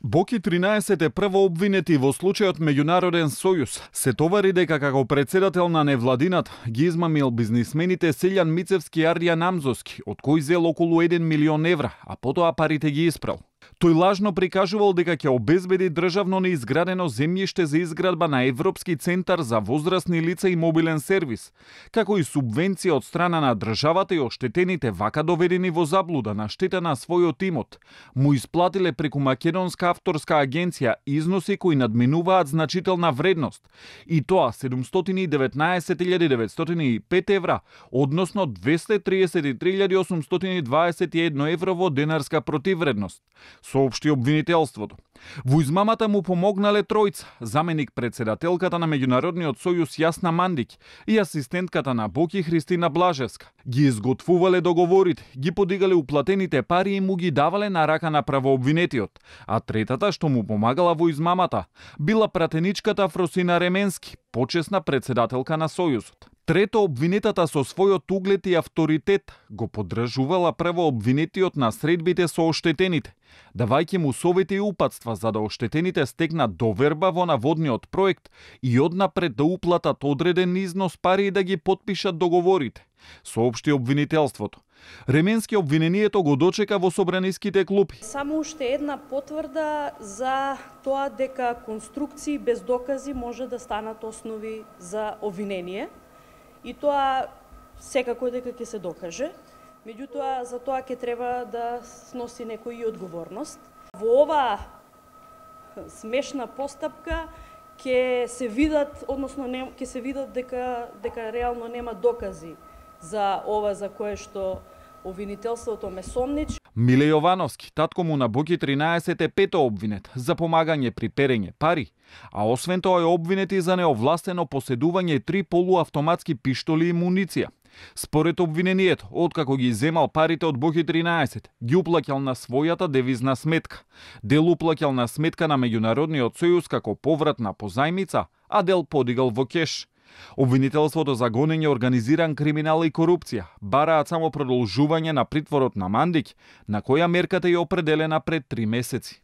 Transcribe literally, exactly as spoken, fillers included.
Боки тринаесет е прво обвинети во случајот Меѓународен сојуз. Се товари дека како председател на невладинат ги измамил бизнисмените Селјан Мицевски и Арјан Амзовски, од кој зел околу еден милион евра, а потоа парите ги испрал. Тој лажно прикажувал дека ќе обезбеди државно неизградено земјиште за изградба на Европски центар за возрастни лица и мобилен сервис, како и субвенција од страна на државата и оштетените вака доведени во заблуда на штета на својот имот, му исплатиле преку Македонска авторска агенција износи кои надминуваат значителна вредност, и тоа седумстотини и деветнаесет илјади деветстотини и пет евра, односно двесте и триесет и три илјади осумстотини дваесет и едно евро во денарска противвредност, соопшти обвинителството. Во измамата му помогнале тројца: заменик председателката на Меѓународниот сојуз Јасна Мандиќ и асистентката на Боки Христина Блажевска. Ги изготвувале договорите, ги подигале уплатените пари и му ги давале на рака на правообвинетиот, а третата што му помагала во измамата била пратеничката Фросина Ременски, почесна председателка на сојузот. Трето, обвинетата со својот углед и авторитет го поддржувала првообвинетиот на средбите со оштетените, давајќи му совети и упатства за да оштетените стекнат доверба во наводниот проект и однапред да уплатат одреден износ пари и да ги потпишат договорите, соопшти обвинителството. Ременски обвинението го дочека во собраниските клупи. Само уште една потврда за тоа дека конструкции без докази може да станат основи за обвинение. И тоа секако дека ќе се докаже. Меѓутоа, за тоа ќе треба да сноси некој и одговорност. Во оваа смешна постапка ќе се видат, односно ќе се видат дека дека реално нема докази за ова за кое што обвинителството ме сомнич. Миле Јовановски, татко му на Боки тринаесет, е пето обвинет за помагање при перење пари, а освен тоа е обвинет и за неовластено поседување три полуавтоматски пиштоли и муниција. Според обвинението, откако ги земал парите од Боки тринаесет, ги уплаќал на својата девизна сметка. Дел уплаќал на сметка на Меѓународниот сојуз како поврат на позајмица, а дел подигал во кеш. Обвинителството за гонење, организиран криминал и корупција бараат само продолжување на притворот на Мандиќ, на која мерката е определена пред три месеци.